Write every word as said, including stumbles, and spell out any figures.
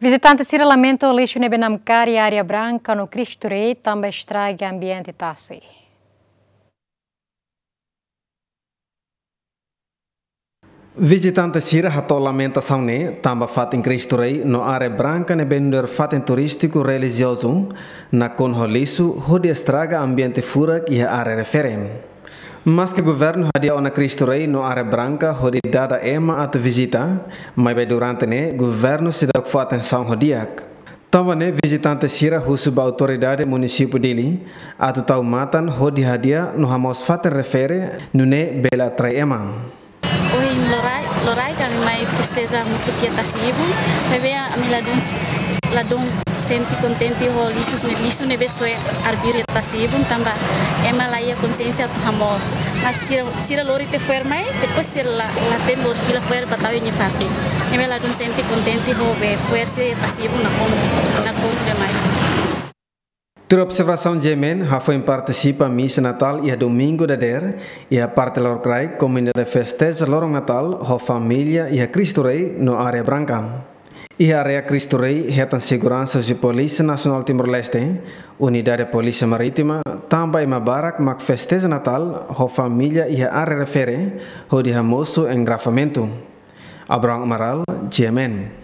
Vizitante sira lamenta lixu ne'ebé namkari Areia Branca no Cristo Rei tanba estraga ambiente tasi. Vizitante sira hato'o lamentasaun ne'e tanba fatin Cristo Rei no Areia Branca ne'ebé nu'udar fatin turístiku relijiozu nakonu ho lixu hodi estraga ambiente furak iha área refere. Maske governu hadi'a ona Cristo Rei no Areia Branca hodi dada ema atu vizita, maibé durante ne'e governu seidauk fó atensaun ho di'ak. Tanba ne'e vizitante sira husu ba autoridade munisípiu Dili atu tau matan hodi hadi'a no hamoos fatin refere nune'e bele atrai ema. Ohin loraik, loraik ami mai festeja hamutuk iha tasi-ibun, maibé ami ladún, ladún sente kontente ho lixu ne'e, lixu ne'ebé soe arbiru iha tasi-ibun tanba ema la iha konsiénsia atu hamoos. Mas sira, sira lori tiha fo'er mai, depois sira la, la hatene lori fila fo'er ba tau iha nia fatin. Ami ladún sente kontente ho be fo'er sira iha tasi-ibun nakonu, nakonu demais. Tuir observasaun G M N, hafoin partisipa misa Natál iha domingu dadeer, iha parte lorokraik komunidade festeja loron Natál ho família iha Cristo Rei no Areia Branca. Iha área Cristo Rei hetan seguransa husi Polísia Nasionál Timor-Leste, Unidade Polísia Marítima, tanba ema barak mak festeja Natál ho família iha área refere hodi hamosu engarrafamentu. Abraham Amaral, G M N.